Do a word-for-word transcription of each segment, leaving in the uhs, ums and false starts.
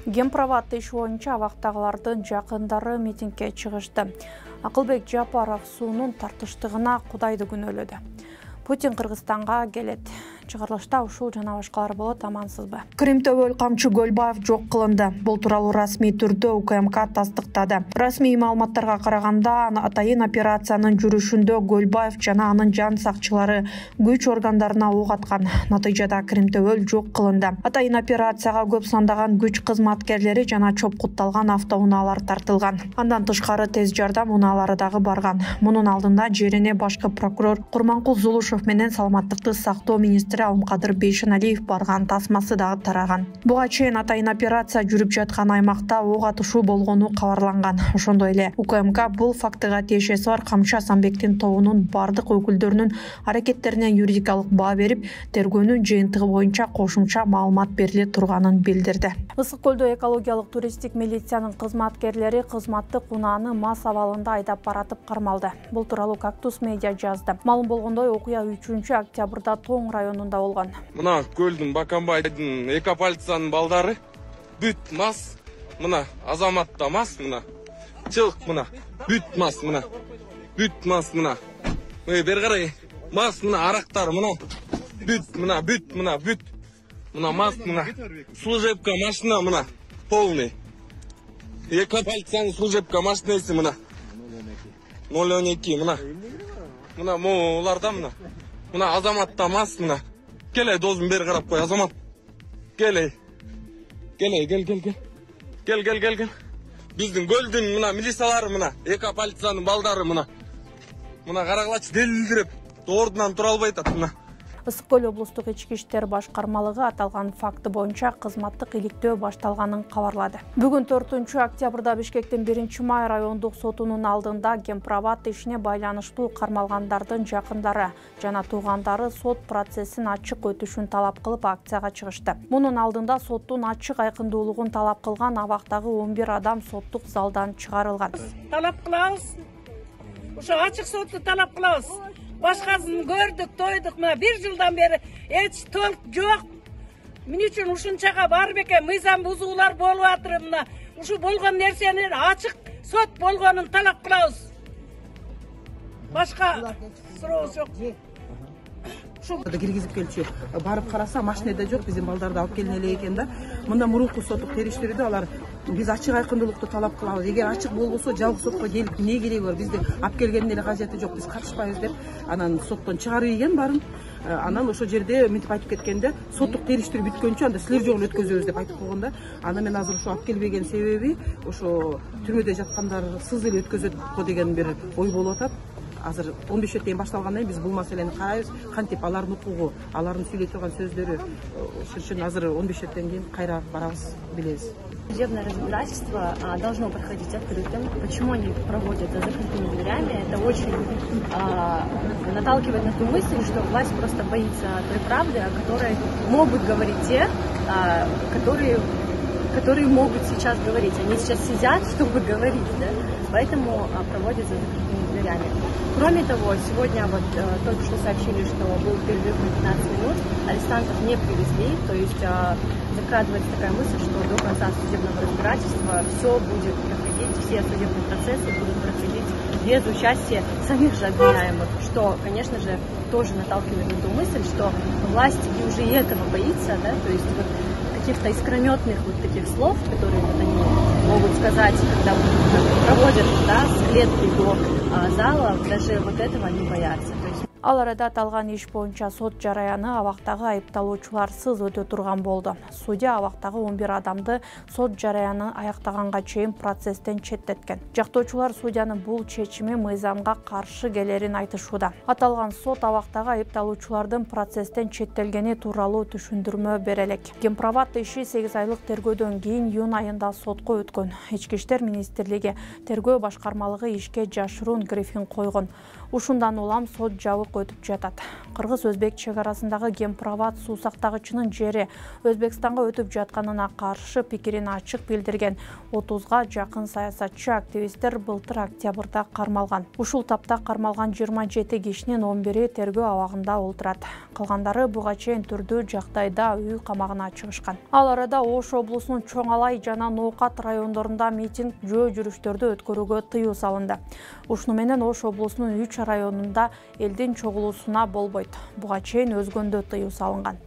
Гемпроват иш боюнча абактагылардын жакындары митингге чыгышты. Акылбек Жапаров суунун тартыштыгына Кудайды күнөөлөдү. Путин Кыргызстанга келет. Чыгарылышта ушул жана башкалар болот, амансызбы? Кримтөбөл Камчы Гөлбаев жок кылынды. Бул тууралуу расмий түрдө У К М К тастыктады. Расмий маалыматтарга караганда, атайын операциянын жүрүшүндө Гөлбаев жана анын жан сакчылары күч органдарына ок аткан. Натыйжада Кримтөбөл жок кылынды. Атайын операцияга көп сандаган күч кызматкерлери жана чопкутталган автоунаалар тартылган. Андан тышкары тез жардам унаалары дагы барган. Мунун алдында жерине башкы прокурор Курманкул Зулушев менен саламаттыкты сактоо министри Алымкадыр Бейшеналиев барган тасмасы дагы тараган. Буга чейин атайын операция жүрүп жаткан аймакта ок атышуу болгону кабарланган. Ошондой эле У К М К бул фактыга тиешеси бар Камчы Асанбектин тобунун бардык өкүлдөрүнүн аракеттерине юридикалык баа берип, тергөөнүн жыйынтыгы боюнча кошумча маалымат бериле турганын билдирди. Ысык көлдө экологиялык туристтик милициянын кызматкерлери кызматтык унааны мас абалында айдап баратып кармалды. Бул тууралуу Кактус медиа жазды. Маалым болгондой, окуя үчүнчү октябрда Тоң районунда болгон. Мына көлдүн Бакамбайдын экополициянын балдары бүт мас, мына Азамат да мас, мына чык, мына бүт мас, мына бүт мас, мына эй бери карай, мас, мына арактар, мына бүт, мына бүт, мына бүт, мына мас, мына служебка машина, мына полный экополициянын служебка машинеси, мына ноль он эки, мына мына могуларда, мына мына Азамат да мас, мына келе дозун бери карап кой, Азамат келе келе кел кел кел кел кел кел кел биздин көлдүн мына милициялары, мына экополициянын балдары, мына мына карагылачы делилдирип ордунан тура албай атат. Мына Ысык көл облустук ички иштер башкармалыгы аталган факты боюнча кызматтык иликтөө башталганын кабарлады. Бүгүн төртүнчү октябрда Бишкектин биринчи май райондук сотунун алдында Гемпроват ишине байланыштуу кармалгандардын жакындары жана туугандары сот процессин ачык өтүшүн талап кылып акцияга чыгышты. Мунун алдында соттун ачык айкындуулугун талап кылган абактагы он бир адам соттук залдан чыгарылган. Талап кылабыз. Ошо ачык сотту талап кылабыз. Башкасын көрдүк, тойдук, мына бир жылдан бери эч толк жок. Эмне үчүн ушунчага барып экен, мыйзам бузуулар болуп атыр, мына ушу болгон нерсени ачык сот болгонун талап кылабыз. Башка сурообуз жок. Ошолда киргизип келчү. Барып караса, машинеде жок, биздин балдарды алып келине элек экен да. Мында мурунку соттук териштирүүдө алар биз ачык айкындуулукту талап кылабыз. Эгер ачык болбосо жалгыз сотко келип эмне кереги бар? Бизди алып келгендин эле кажети жок, биз катышпайбыз деп анан соттон чыгарып ийген барын. Анан ошол жерде мынтип айтып кеткенде, соттук териштирүү бүткөнчө анда силер жолу өткөзөбүз деп айтып койгон да. Аны мен азыр ошо алып келбеген себеби ошо түрмөдө жаткандар сыз эле өткөзөт го деген бир ой болуп атат. Азыр он беш чейин башталгандан кийин биз бул маселени карайбыз, кантип алардын укугу, алардын сүйлөй турган сөздөрү, ошон үчүн азыр он беш кийин кайра барабыз, билебиз. Судебное разбирательство а, должно проходить открытым. Почему они проводят за закрытыми дверями? Это очень а, наталкивает на ту мысль, что власть просто боится той правды, о которой могут говорить те, а, которые, которые могут сейчас говорить. Они сейчас сидят, чтобы говорить, да? Поэтому а, проводят за закрытыми дверями. Кроме того, сегодня вот э, только что сообщили, что был перерыв на пятнадцать минут, арестантов не привезли, то есть э, закрадывается такая мысль, что до конца судебного разбирательства все будет проходить, все судебные процессы будут проходить без участия самих же обвиняемых, что, конечно же, тоже наталкивает на ту мысль, что власть и уже и этого боится, да, то есть вот каких-то искрометных вот таких слов, которые вот они могут сказать, когда проводят, да, с клетки до а, зала, даже вот этого они боятся. Ал арада аталган иш боюнча сот жараяны абактагы айыпталуучуларсыз өтө турган болду. Судья абактагы он бир адамды сот жараяны аяктаганга чейин процесстен четтеткен. Жактоочулар судьянын бул чечими мыйзамга каршы келерин айтышууда. Аталган сот абактагы айыпталуучулардын процесстен четтелгени тууралуу түшүндүрмө бере элек. Гемпроват иши сегиз айлык тергөөдөн кийин июнь айында сотко өткөн. Ички иштер министрлиги тергөө башкармалыгы ишке жашыруун грифин койгон. Ушундан улам сот жабык жолку өтүп жатат. Кыргыз-өзбек чек арасындагы Гемпроват суу сактагычынын жери Өзбекстанга өтүп жатканына каршы пикирин ачык билдирген отузга жакын саясатчы активисттер былтыр октябрда кармалган. Ушул тапта кармалган жыйырма жети кишинин он бири тергөө абагында олтурат. Калгандары буга чейин түрдүү жагдайда үй камагына чыгышкан. Ал арада Ош облусунун Чоң Алай жана Ноокат райондорунда митинг жөө жүрүштөрдү өткөрүүгө тыюу салынды. Ушуну менен Ош облусунун үч районунда элдин чогулуусуна болбойт. Буга чейин өзгөндө тыюу салынган.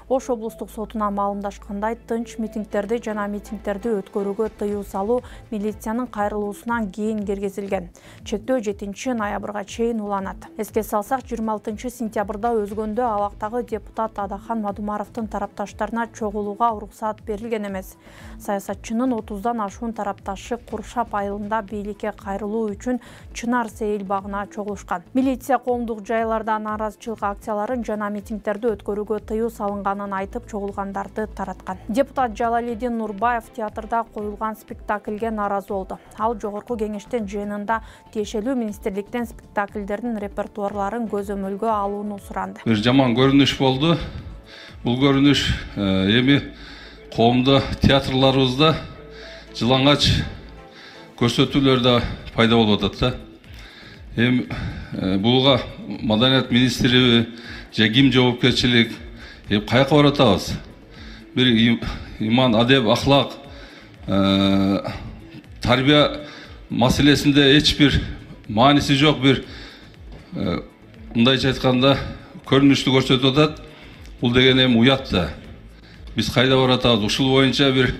Ош облустук сотуна маалымдашкандай, тынч митингтерди жана митингтерди өткөрүүгө тыюу салуу милициянын кайрылуусунан кийин киргизилген. Чектөө жетинчи ноябрга чейин уланат. Эске салсак, жыйырма алтынчы сентябрда өзгөндө абактагы депутат Адахан Мадумаровдун тарапташтарына чогулууга уруксаат берилген эмес. Саясатчынын отуздан ашуун тарапташы Куршап айылында бийликке кайрылуу үчүн Чынар Сейил багына чогулушкан. Милиция коомдук жайларда нааразычылык акцияларын жана митингтерди өткөрүүгө тыюу салынган айтып чогулгандарды тараткан. Депутат Жалалидин Нурбаев театрда коюлган спектакльге нааразы болду. Ал жогорку кеңештин жыйынында тиешелүү министрликтен спектакльдердин репертуарларын көзөмөлгө алууну суранды. Бир жаман көрүнүш болду. Бул көрүнүш эми коомдо театрларыбызда жылаңач көрсөтүүлөр да пайда болуп атат да. Эми буга маданият министри же ким жоопкерчилик каяка баратабыз? Бир иман, адеп, ахлак, тарбия маселесинде эч бир мааниси жок, бир мындайча айтканда көрүнүштү көрсөтүп атат. Бул деген эми уят да. Биз кайда баратабыз? Ушул боюнча бир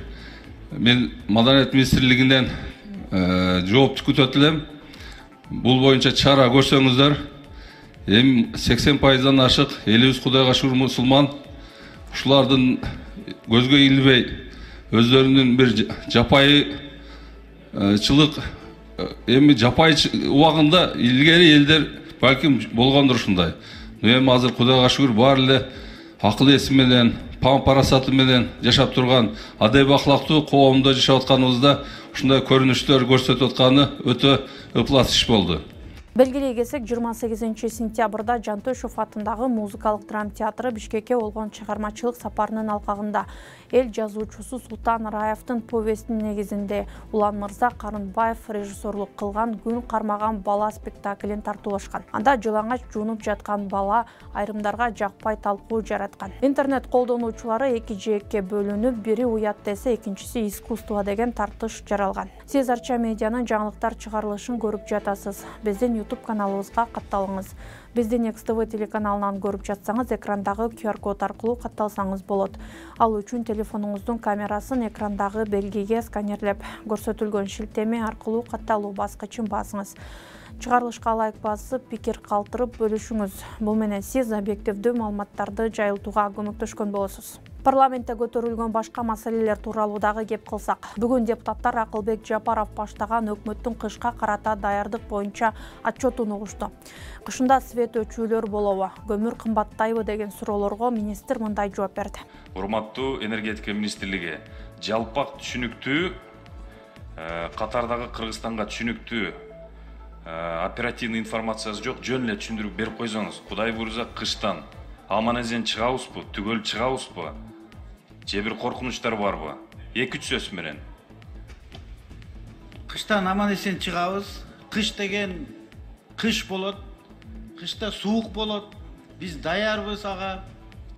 мен маданият министрлигинен жооп күтөт элем. Бул боюнча чара көрсөңүздөр. Эми сексен пайыздан ашык элибиз Кудайга шүгүр мусулман. Ушулардын көзгө илбей өздөрүнүн бир жапайычылык, эми жапай убагында илгери элдер балким болгондур ушундай. Эми азыр Кудайга шүгүр баары эле акыл эси менен, пам парасаты менен жашап турган, адеп ахлактуу коомдо жашап атканыбызда ушундай көрүнүштөр көрсөтүп атканы өтө ыплас иш болду. Белгилей кетсек, жыйырма сегизинчи сентябрда Жантөшев атындагы музыкалык драма театры Бишкекке болгон чыгармачылык сапарынын алкагында эл жазуучусу Султан Раевдин повестинин негизинде Улан Мырза Карынбаев режиссерлук кылган Күн кармаган бала спектаклин тартуулашкан. Анда жылаңач жуунуп жаткан бала айрымдарга жакпай талкуу жараткан. Интернет колдонуучулары эки жээкке бөлүнүп, бири уят десе, экинчиси искусство деген тартыш жаралган. Сиз Арча медианын жаңылыктар чыгарылышын көрүп жатасыз. Биздин YouTube каналыбызга катталыңыз. Биздин Некс ТВ телеканалынан көрүп жатсаңыз, экрандагы ку ар код аркылуу катталсаңыз болот. Ал үчүн телефонуңуздун камерасын экрандагы белгиге сканерлеп, көрсөтүлгөн шилтеме аркылуу катталуу баскычын басыңыз. Чыгарылышка лайк басып, пикир калтырып бөлүшүңүз. Бул менен сиз объективдүү маалыматтарды жайылтууга көмөктөшкөн болосуз. Парламентте көтөрүлгөн башка маселелер тууралуу дагы кеп кылсак. Бүгүн депутаттар Акылбек Жапаров баштаган өкмөттүн кышка карата даярдык боюнча отчетун угушту. Кышында свет өчүүлөр болобу, көмүр кымбаттайбы деген суроолорго министр мындай жооп берди. Урматтуу энергетика министрлиги, жалпак түшүнүктүү, катардагы Кыргызстанга түшүнүктүү оперативный информациясы жок, жөн эле түшүндүрүп берип койсоңуз. Кудай буйрса кыштан аман-эсен чыгабызбы, түгөл чыгабызбы? Же бир коркунучтар барбы? Эки үч сөз менен. Кыштан аман-эсен чыгабыз. Кыш деген кыш болот. Кышта суук болот. Биз даярбыз ага.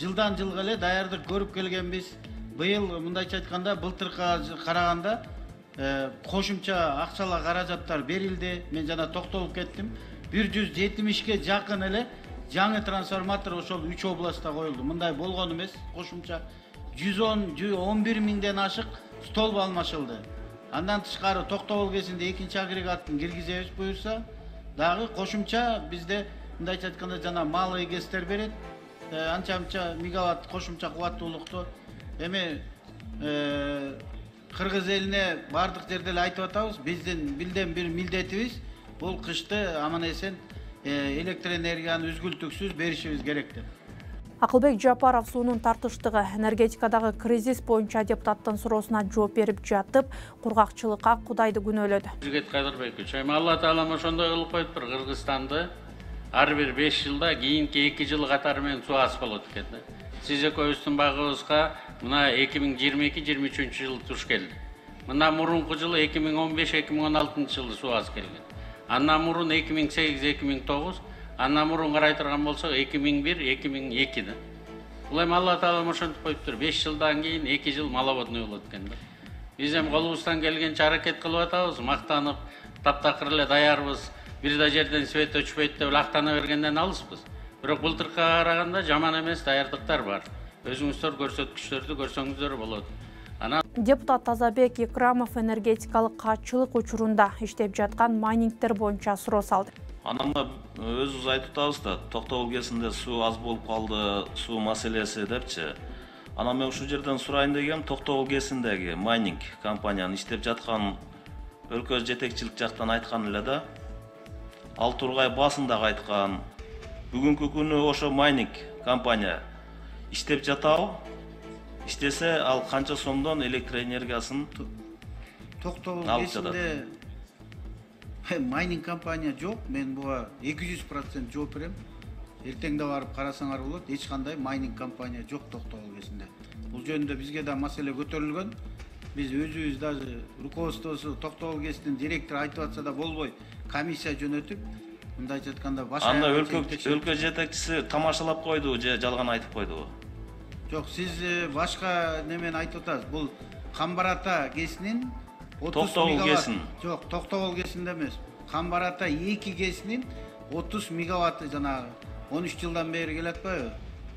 Жылдан жылга эле даярдык көрүп келгенбиз. Быйыл мындайча айтканда былтыркыга караганда кошумча акчалар каражаттар берилди. Мен жана токтолуп кеттим. бир жүз жетимишке жакын эле жаңы трансформатор ошол үч областта коюлду. Мындай болгон эмес, кошумча жүз он жүз он бир миңден ашык столб алмашылды. Андан тышкары Токтогул кезинде экинчи агрегатын киргизебиз буюрса, дагы кошумча бизде мындайча айтканда жана малый гэстер берет. Анча-мынча мегаватт кошумча кубаттуулукту эми Кыргыз элине бардык жерде эле айтып атабыз. Биздин билден бир милдетибиз бул кышты аман-эсен электр энергияны үзгүлтүксүз беришибиз керек деп. Акылбек Жапаров суунун тартыштыгы энергетикадагы кризис боюнча депутаттын суроосуна жооп берип жатып, кургакчылыкка Кудайды күнөөлөдү. Жигит Кадырбекович, эми Алла Таалам ошондой кылып коюптур, Кыргызстанды ар бир беш жылда кийинки эки жыл катары менен суу аз болот экен да. Сиз экөөбүздүн багыбызга мына эки миң жыйырма эки жыйырма үчүнчү жылы туш келди. Мына мурунку жылы эки миң он беш эки миң он алтынчы жылы суу аз келген. Андан мурун эки миң сегиз эки миң тогуз, андан мурун карай турган болсок эки миң бир эки миң эки да. Бул эми Алла Таалам ошентип коюптур. беш жылдан кийин эки жыл маловодной болот экен да. Биз эми колубуздан келгенче аракет кылып атабыз, мактанып, таптакыр эле даярбыз. Бир да жерден свет өчпөйт деп актана бергенден алыспыз. Бирок былтыркыга караганда жаман эмес даярдыктар бар. Өзүңүздөр көрсөткүчтөрдү көрсөңүздөр болот. Анан депутат Тазабек Икрамов энергетикалык катчылык учурунда иштеп жаткан майнингдер боюнча суроо салды. Анан өзүбүз айтып атабыз да, Токтогул өлкөсүндө суу аз болуп калды, суу маселеси депчи. Анан мен ушул жерден сурайын дегем, Токтогул өлкөсүндөгү майнинг компаниянын иштеп жаткан өлкө жетекчилик жактан айткан эле да. Ал Тургай басындагы айткан, бүгүнкү күнү ошо майнинг компания иштеп жатабы? İştese al kança сомдон электр энергиясын Токтогул өлкөсүндө майнинг компания жок. Мен буга эки жүз процент жооп берем. Эртеңде барып карасаңар болот, эч кандай майнинг компания жок Токтогул өлкөсүндө. Бул жөнүндө бизге да маселе көтөрүлгөн. Биз өзүбүз даже руководствосу Токтогул өлкөсүнүн директору айтып атса да болбой, комиссия жөнөтүп, мындайча айтканда башка анда өлкө өлкө жетекчиси тамашалап койду же жалган айтып койдубу? Жок, сиз башка немен айтып атасыз. Бул Камбар-Ата кесинин отуз мегаватт. Жок, Токтогул кесинде эмес. Камбар-Ата эки кесинин отуз мегаватты жанагы он үч жылдан бери келе атпайбы?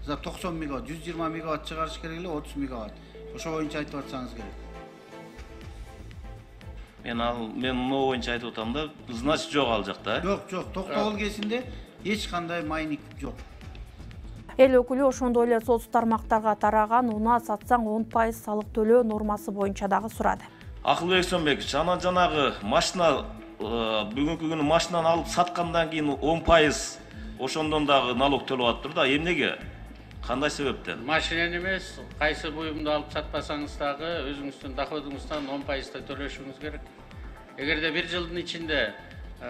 За токсон мегаватт, жүз жыйырма мегаватт чыгарыш керек эле, отуз мегаватт. Ошо боюнча айтып атсаңыз керек. Мен ал мен мына боюнча айтып атам да, значит жок ал жакта. Жок, жок, Токтогул кесинде эч кандай майнинг жок. Эл өкүлү ошондой эле соц тармактарга тараган унаа сатсаң он пайыз салык төлөө нормасы боюнча дагы сурады. Акылбек Сөнбекович, анан жанагы машина бүгүнкү күнү машинаны алып саткандан кийин он пайыз ошондон дагы налог төлөп атыптыр да. Эмнеге? Кандай себептен? Машинени эмес, кайсы буюмду алып сатпасаңыз дагы өзүңүздүн доходуңуздан он пайызды төлөшүңүз керек. Эгерде бир жылдын ичинде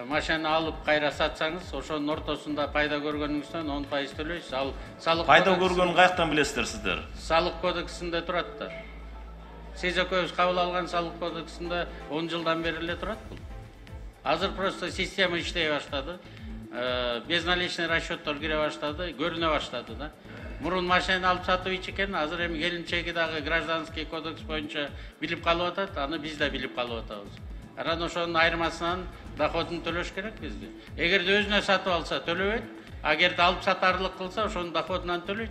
машина алып кайра сатсаңыз, ошонун ортосунда пайда көргөнүңүздөн он пайыз төлөйсүз. Ал салык пайда көргөнүн каяктан билесиздер сиздер? Салык кодексинде турат да. Сиз экөөбүз кабыл алган салык кодексинде он жылдан бери эле турат бул. Азыр просто система иштей баштады. Безналичный расчеттор кире баштады, көрүнө баштады да. Мурун машина алып сатып ичкен, азыр эми келинчеги дагы гражданский кодекс боюнча билип калып атат, аны биз да билип калып атабыз. Анан ошонун айырмасынан доходун төлөш керек бизге. Эгерде өзүнө сатып алса төлөбөйт, агерде алып сатарлык кылса ошонун доходунан төлөйт.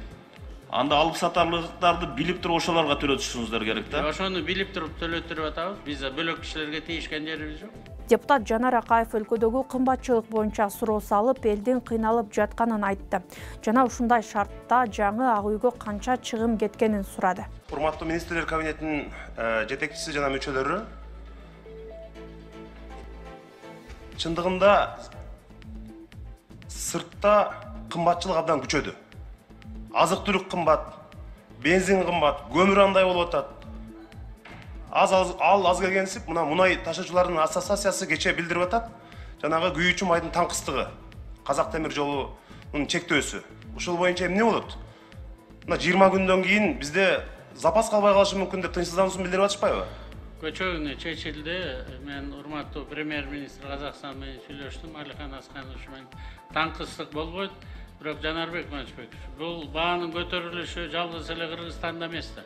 Анда алып сатарлыктарды билип туруп ошолорго төлөтүшүңүздөр керек да. Ошону билип туруп төлөтүрүп атабыз. Биз бөлөк кишилерге тийишкен жерибиз жок. Депутат Жанар Акаев өлкөдөгү кымбатчылык боюнча суроо салып, элдин кыйналып жатканын айтты. Жана ушундай шартта жаңы ак үйгө канча чыгым кеткенин сурады. Урматтуу министрлер кабинетинин жетекчиси жана мүчөлөрү, чындыгында сыртта кымбатчылык абдан күчөдү. Азык-түлүк кымбат, бензин кымбат, көмүр андай болуп атат. Аз ал аз келгенсип, мына мунай ташуучулардын ассоциациясы кечээ билдирип атат. Жанагы күйүүчү майдын таңкыстыгы, Казак темир жолунун чектөөсү. Ушул боюнча эмне болот? Мына жыйырма күндөн кийин бизде запас калбай калышы мүмкүн деп тынчсыздануусун билдирип атышпайбы? Көчөгүнө чечилди. Мен урматтуу премьер-министр Казакстан менен сүйлөштүм, Алихан Асканович менен. Таңкыстык болбойт. Бирок Жанарбек Манчбекович, бул баанын көтөрүлүшү жалгыз эле Кыргызстанда эмес да.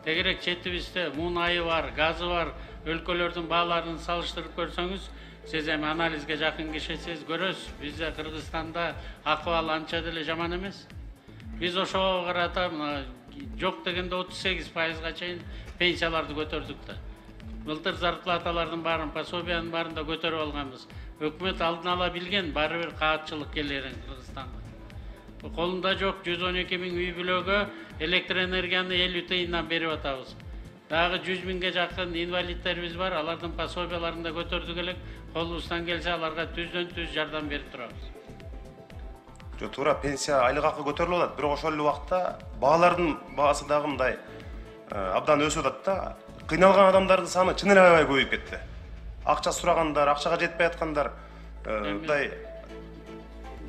Тегерек четибизде мунайы бар, газы бар өлкөлөрдүн бааларын салыштырып көрсөңүз, сиз эми анализге жакын кишисиз көрөсүз. Бизде Кыргызстанда акыбал анча деле жаман эмес. Биз ошого карата жок дегенде отуз сегиз пайызга чейин пенсияларды көтөрдүк да. Былтыр зарплаталардын баарын, пособиянын баарын да көтөрүп алганбыз. Өкмөт алдын ала билген, баары бир каатчылык келерин Кыргызстанга. Колунда жок жүз он эки миң үй бүлөгө электр энергияны элүү тыйындан берип атабыз. Дагы жүз миңге жакын инвалидтерибиз бар, алардын пособияларын да көтөрдүк элек. Колубуздан келсе аларга түздөн түз жардам берип турабыз. Жо туура пенсия айлык акы көтөрүлүп атат, бирок ошол эле убакта баалардын баасы дагы мындай абдан өсүп атат да. Кыйналган адамдардын саны чын эле аябай көбөйүп кетти. Акча сурагандар, акчага жетпей аткандар, мындай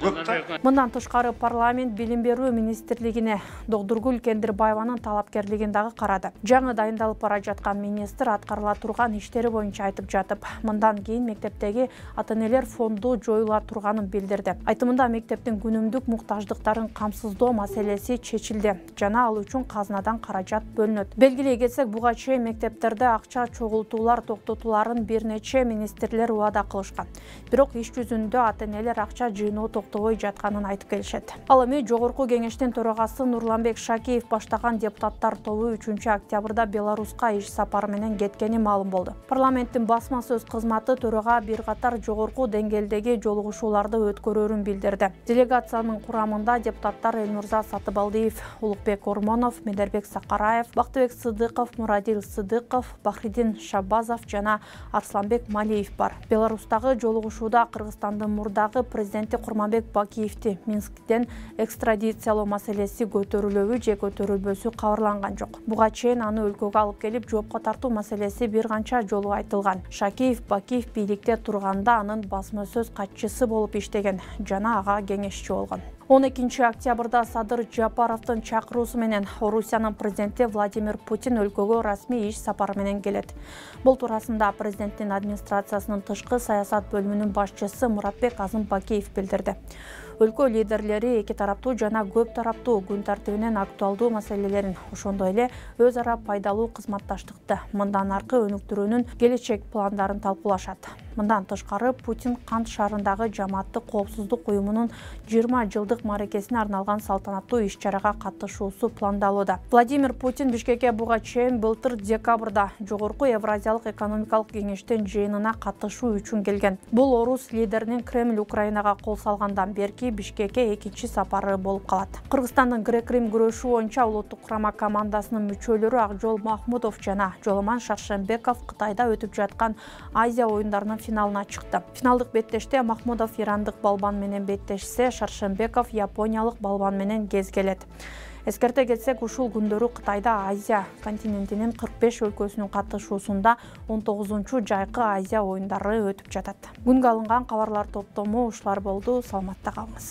көп да. Мындан тышкары парламент билим берүү министрлигине Догдургүл Кендирбаеванын талапкерлигин дагы карады. Жаңы дайындалып бара жаткан министр аткарыла турган иштери боюнча айтып жатып, мындан кийин мектептеги ата-энелер фонду жоюла турганын билдирди. Айтымында мектептин күнүмдүк муктаждыктарын камсыздоо маселеси чечилди жана ал үчүн казынадан каражат бөлүнөт. Белгилей кетсек, буга чейин мектептерде акча чогултуулар токтотуларын бир нече министрлер убада кылышкан. Бирок иш жүзүндө ата-энелер акча жыйноо токтобой жатканын айтып келишет. Ал эми жогорку кеңештин төрагасы Нурланбек Шакиев баштаган депутаттар тобу үчүнчү октябрда Беларуска иш сапары менен кеткени маалым болду. Парламенттин басма сөз кызматы төрага бир катар жогорку деңгээлдеги жолугушууларды өткөрөрүн билдирди. Делегациянын курамында депутаттар Элмурза Сатыбалдиев, Улукбек Ормонов, Медербек Сакараев, Бактыбек Сыдыков, Мурадил Сыдыков, Бахридин Шабазов жана Арсланбек Малиев бар. Беларустагы жолугушууда Кыргызстандын мурдагы президенти Курманбек Бакиевди Минсктен экстрадициялоо маселеси көтөрүлөбү же көтөрүлбөсү кабарланган жок. Буга чейин аны өлкөгө алып келип жоопко тартуу маселеси бир канча жолу айтылган. Шакиев Бакиев бийликте турганда анын басма сөз катчысы болуп иштеген жана ага кеңешчи болгон. он экинчи октябрда Садыр Жапаровдун чакыруусу менен Орусиянын президенти Владимир Путин өлкөгө расмий иш сапары менен келет. Бул туурасында президенттин администрациясынын тышкы саясат бөлүмүнүн башчысы Муратбек Азымбакиев билдирди. Өлкө лидерлери эки тараптуу жана көп тараптуу күн тартибинен актуалдуу маселелерин, ошондой эле өз ара пайдалуу кызматташтыкты, мындан аркы өнүктүрүүнүн келечек пландарын талкуулашат. Мындан тышкары Путин Кант шаарындагы жамааттык коопсуздук уюмунун жыйырма жылдык мааракесине арналган салтанаттуу иш-чарага катышуусу пландалууда. Владимир Путин Бишкекке буга чейин былтыр декабрда жогорку Евразиялык экономикалык кеңештин жыйынына катышуу үчүн келген. Бул орус лидеринин Кремль Украинага кол салгандан берки Бишкекке экинчи сапары болуп калат. Кыргызстандын грек-рим күрөшүү боюнча улуттук курама командасынын мүчөлөрү Акжол Махмудов жана Жоломан Шаршембеков Кытайда өтүп жаткан Азия оюндарынын финалына чыкты. Финалдык беттеште Махмудов ирандык балбан менен беттешсе, Шаршембеков япониялык балбан менен кезгелет. Эскерте кетсек, ушул күндөрү Кытайда Азия континентинин кырк беш өлкөсүнүн катышуусунда он тогузунчу жайкы Азия оюндары өтүп жатат. Күнгө алынган кабарлар топтому ушулар болду. Саламатта калыңыз.